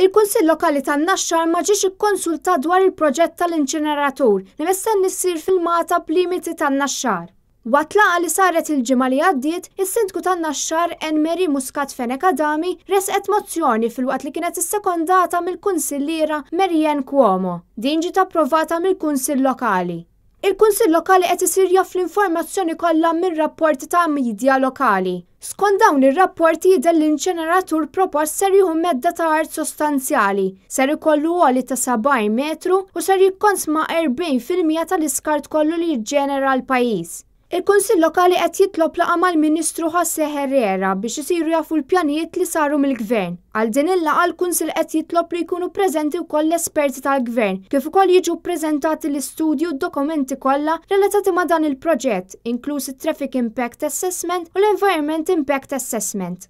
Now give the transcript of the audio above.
Il-Kunsill Lokali tan-Naxxar ma ġiex ikkonsultat dwar il-proġett tal-inċineratur li mistenni ssir fil-Magħtab limiti tan-Naxxar. Waqt laqgħa li saret il-ġimgħa li għaddiet, is-Sindku tan-Naxxar Anne Marie Muscat Fenech Adami ressqet mozzjoni filwaqt li kienet issekondata mill-Kunsilliera Marianne Cuomo. Din ġiet approvata mill-Kunsill Lokali. Il-Kunsill Lokali qed isir jaf l-informazzjoni kollha minn rapporti ta' midja lokali. Skont dawn ir-rapporti jidher l-inċineratur propost ser jieħu medda ta' art sostanzjali, ser ikollu għoli ta' 70 metru u ser jikkonsma 40% tal-iskart kollu li jiġġenera l-pajjiż. Il-Kunsill Lokali qed jitlob laqgħa mal-Ministru José Herrera biex isiru jafu l-pjanijiet li saru mill-Gvern. Għal din il-laqgħa l-Kunsill qed jitlob li jkunu preżenti wkoll l-esperti tal-Gvern kif ukoll jiġu ppreżentati l-istudji u d-dokumenti kollha relatati ma' dan il-proġett, inkluż it-Traffic Impact Assessment u l-Environment Impact Assessment.